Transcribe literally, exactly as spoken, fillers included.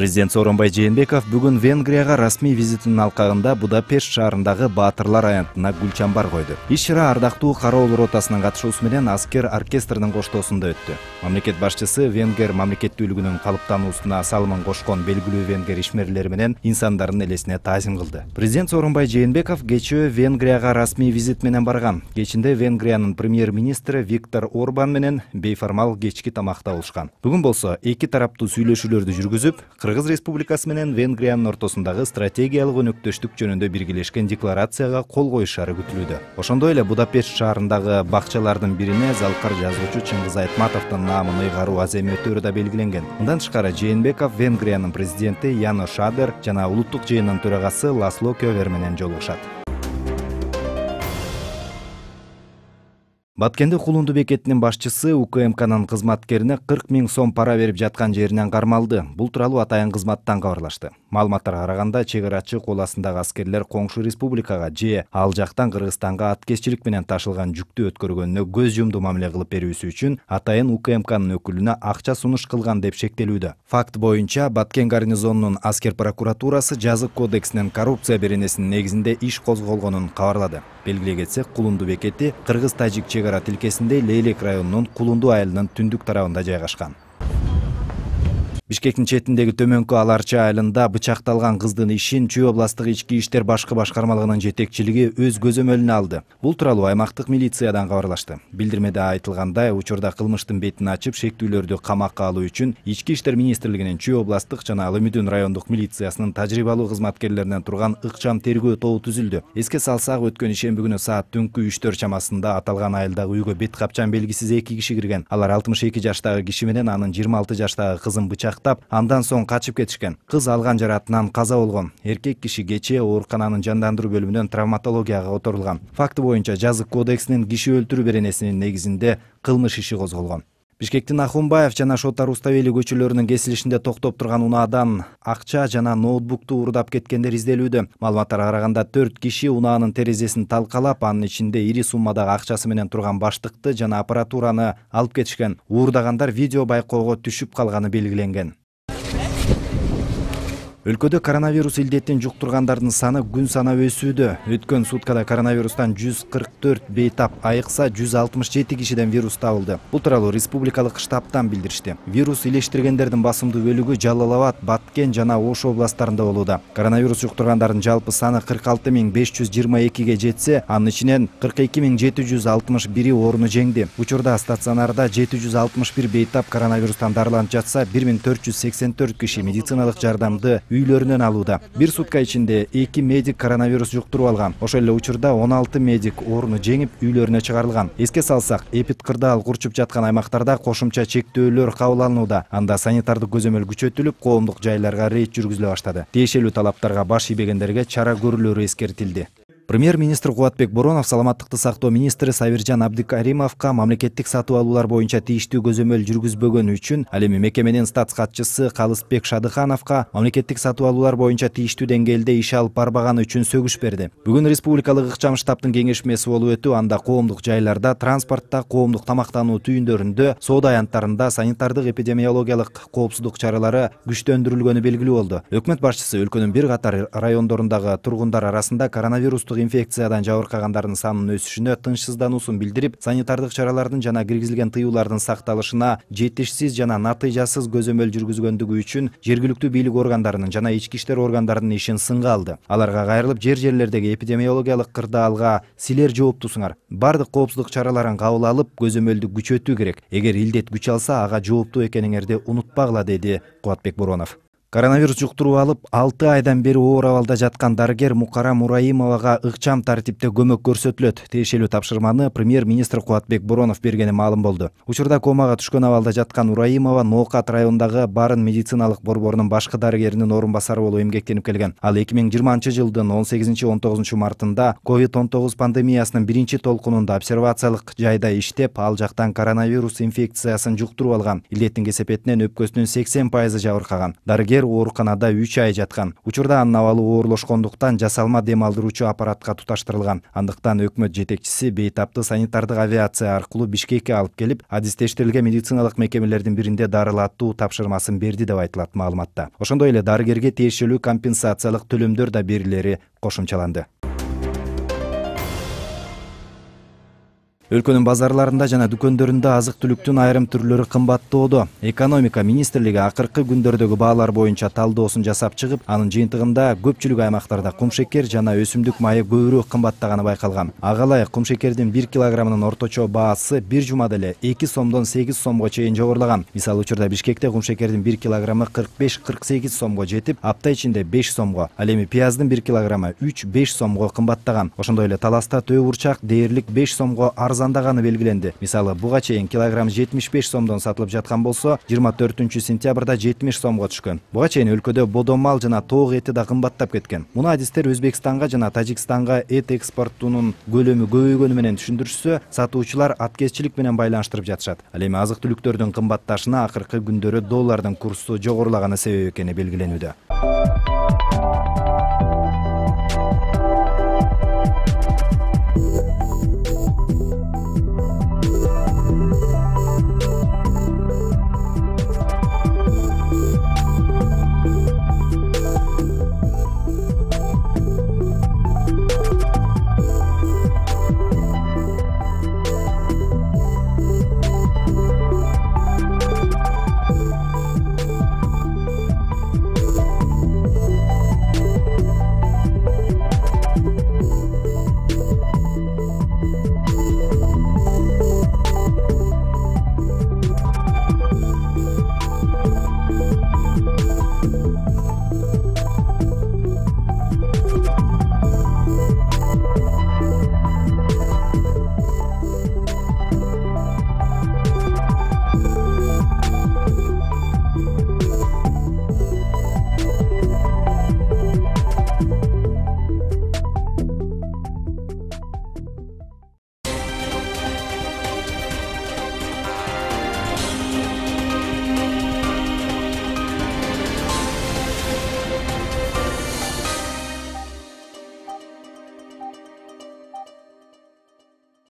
Президент Сооронбай Жээнбеков бүгүн Венгрияга расмий визитинин алкагында Будапешт шаарындагы Баатырлар аянтына гүл чамбар койду. Иш-чара ардактуу кароол ротасынын катышуусу менен аскер оркестринин коштоосунда өттү. Мамлекет башчысы венгер мамлекеттүүлүгүнүн калыптануусуна салымын кошкон белгилүү венгер ишмерлери менен инсандардын элесине таазим кылды. Президент Сооронбай Жээнбеков кечээ Венгрияга расмий визит менен барган. Кечинде Венгриянын премьер-министри Виктор Орбан менен бейформал кечки тамакта болушкан. Бүгүн болсо эки тараптуу сүйлөшүүлөрдү жүргүзүп, Кыргыз Республикасы менен Венгриянын ортосундагы стратегиялык өнөктөштүк жөнүндө биргелешкен декларацияга кол коюшары күтүлүүдө. Ошондой эле Будапешт шаарындагы бакчалардын бирине залкар жазуучу Чыңгыз Айтматовдун наамын ыйгаруу аземи өтөөрү да белгиленген. Мындан тышкары Жээнбеков Венгриянын президенти Яно Шадер жана улуттук жыйындын төрагасы Ласло Кövер менен жолугушат. Баткенде Кулунду бекетинин башчысы УКМКнын кызматкерине кырк миң сом пара берип жаткан жеринен кармалды. Бул тууралуу атайын кызматтан кабарлашты. Маалыматтарга караганда, чек-арачы кол астындагы аскерлер коңшу республикага же ал жактан Кыргызстанга аткезчилик менен ташылган жүктү өткөргөнүнө көз жумду мамиле кылып берүүсү үчүн атайын УКМКнын өкүлүнө акча сунуш кылган деп шектелүүдө. Факт боюнча Баткен гарнизонунун аскер прокуратурасы жазык кодексинин коррупция беренесинин негизинде иш козголгонун кабарлады. Белгилей кетсек, Кулунду бекети Кыргыз-Тажик чек-ара тилкесинде Лейлек районунун Кулунду айылынын түндүк тарабында жайгашкан. Бишкектин четиндеги Төмөнкү Аларчы айылында бычакталган кыздын ишин Чүй областтык ички иштер башкы башкармалыгынын жетекчилиги өз көзөмөлүнө алды. Бул тууралуу аймактык милициядан кабарлашты. Билдирмеде айтылгандай, учурда кылмыштын бетин ачып, шектүүлөрдү камакка алуу үчүн Ички иштер министрлигинин Чүй областтык жана Алы Мүдүн райондук милициясынын тажрыйбалуу кызматкерлеринен турган ыкчам тергөө тобу түзүлдү. Эске салсак, өткөн ишемби күнү саат түнкү үчтөр чамасында аталган айылдагы үйгө бет капчан белгисиз эки киши кирген. Алар алтымыш эки жаштагы киши менен анын жыйырма алты жаштагы кызын бычактап, андан соң качып кетишкен. Кыз алган жаратынан каза болгон. Эркек киши кечээ оорукананын жандандыруу бөлүмүнөн травматологияга которулган. Факты боюнча жазык кодексинин киши өлтүрүү беренесинин негизинде кылмыш иши козголгон. Бишкектин Ахунбаев жана Шотар Руставели көчөлөрүнүн кесилишинде токтоп турган унаадан акча жана ноутбукту уурдап кеткендер изделүүдө. Маалыматтарга караганда төрт киши унаанын терезесин талкалап, анын ичинде ири суммадагы акчасы менен турган баштыкты жана аппаратураны алып кетишкен. Уурдагандар видео байкоого түшүп калганы белгиленген. Өлкөдө коронавирус илдетин жуктургандардын саны күн санап өсүүдө. Өткөн суткада коронавирустан жүз кырк төрт бейтап айыкса, жүз алтымыш жети кишиден вирус табылды. Бул тууралуу республикалык штабтан билдиришти. Вирус илештиргендердин басымдуу бөлүгү Жалал Абад, Баткен жана Ош областтарында болууда. Коронавирус жуктургандардын жалпы саны кырк алты миң беш жүз жыйырма экиге жетсе, анын ичинен кырк эки миң жети жүз алтымыш бири орну жеңди. Учурда стационарда жети жүз алтымыш бир бейтап коронавирустан дарыланып жатса, бир миң төрт жүз сексен төрт киши медициналык жардамды үйлөрүнөн алууда. Бир сутка ичинде эки медик коронавирус жуктуруп алган. Ошол эле учурда он алты медик орну жеңип үйлөрүнө чыгарылган. Эске салсак, эпидкырдаал курчуп жаткан аймактарда кошумча чектөөлөр кабыл алынууда. Анда санитардык көзөмөл күчөтүлүп, коомдук жайларга рейд жүргүзүлө баштады. Тиешелүү талаптарга баш ийбегендерге чара көрүлөрү эскертилди. Премьер-министр Кубатбек Боронов саламаттыкты сактоо министри Сабиржан Абдикаримовго мамлекеттик сатып алуулар боюнча тийиштүү көзөмөл жүргүзбөгөнү үчүн, ал эми мекеменин статс катчысы Калысбек Шадыхановго мамлекеттик сатып алуулар боюнча тийиштүү деңгээлде иш алып барбаганы үчүн сөгүш берди. Бүгүн республикалык ыкчам штабтын кеңешмеси болуп өтүп, анда коомдук жайларда, транспортто, коомдук тамактануу түйүндөрүндө, соода аянттарында санитардык эпидемиологиялык коопсуздук чаралары күчтөндүрүлгөнү белгилүү болду. Өкмөт башчысы өлкөнүн бир катар райондорундагы тургундар арасында коронавирустук инфекциядан жабыркагандардын санынын өсүшүнө тынчсыздануусун билдирип, санитардык чаралардын жана киргизилген тыюулардын сакталышына жетишсиз жана натыйжасыз көзөмөл жүргүзгөндүгү үчүн жергиликтүү бийлик органдарынын жана ички иштер органдарынын ишин сынга алды. Аларга кайрылып, жер-жерлердеги эпидемиологиялык кырдаалга силер жооптусуңар. Бардык коопсуздук чараларын кабыл алып, көзөмөлдү күчөтүү керек. Эгер илдет күч алса, ага жооптуу экениңерди унутпагыла, деди Кубатбек Боронов. Коронавирус жуктуруп алып, алты айдан бери оор абалда жаткан дарыгер Мукара Мураимовага ыкчам тартипте көмөк көрсөтүлөт. Тиешелүү тапшырманы премьер-министр Кубатбек Боронов бергени маалым болду. Учурда комага түшкөн абалда жаткан Мураимова Ноокат районундагы Барын медициналык борборунун башкы дарыгеринин орун басары болуп эмгектенип келген. Ал эки миң жыйырманчы жылдын он сегизинчи он тогузунчу мартында ковид он тогуз пандемиясынын биринчи толкунунда обсервациялык жайда иштеп, ал жактан коронавирус инфекциясын жуктуруп алган. Илдеттин кесепетинен өпкөсүнүн сексен пайызы жабыркаган. Дарыгер адистер ооруканада үч ай жаткан. Учурда анын абалы оорлошкондуктан жасалма дем алдыруучу аппаратка туташтырылган. Андыктан өкмөт жетекчиси Бейтапты санитардык авиация аркылуу Бишкекке алып келип, адистештирилген медициналык мекемелердин биринде дарылатуу тапшырмасын берди деп айтылат маалыматта. Ошондой эле дарыгерге тиешелүү компенсациялык төлөмдөр да берилери кошумчаланды. Өлкөнүн базарларында жана дүкөндөрүндө азык-түлүктүн айрым түрлөрү кымбаттоодо. Экономика министрлиги акыркы күндөрдөгү баалар боюнча талдоосун жасап чыгып, анын жыйынтыгында көпчүлүк аймактарда кумшекер жана өсүмдүк майы көбүрөөк кымбаттаганы байкалган. Ага ылайык кумшекердин бир килограммынын орточо баасы бир жумада эле эки сомдон сегиз сомго чейин жогорулаган. Мисалы учурда Бишкекте кумшекердин бир килограммы кырк беш кырк сегиз сомго жетип, апта ичинде беш сомго, ал эми пияздын бир килограммы үч беш сомго кымбаттаган. Ошондой эле Таласта төө бурчак дээрлик беш сомго арзандаганы белгиленди. Мисалы, буга чейин килограмм жетимиш беш сомдон сатылып жаткан болсо, жыйырма төртүнчү сентябрда жетимиш сомго түшкөн. Буга чейин өлкөдө бодо мал жана тоок эти да кымбаттап кеткен. Муну адистер Өзбекстанга жана Тажикстанга эт экспортунун көлөмү көбөйгөнү менен түшүндүрүшсө, сатуучулар аткезчилик менен байланыштырып жатышат. Ал эми азык-түлүктөрдүн кымбатташына акыркы күндөрү доллардын курсу жогорулаганы себеп экени белгиленүүдө.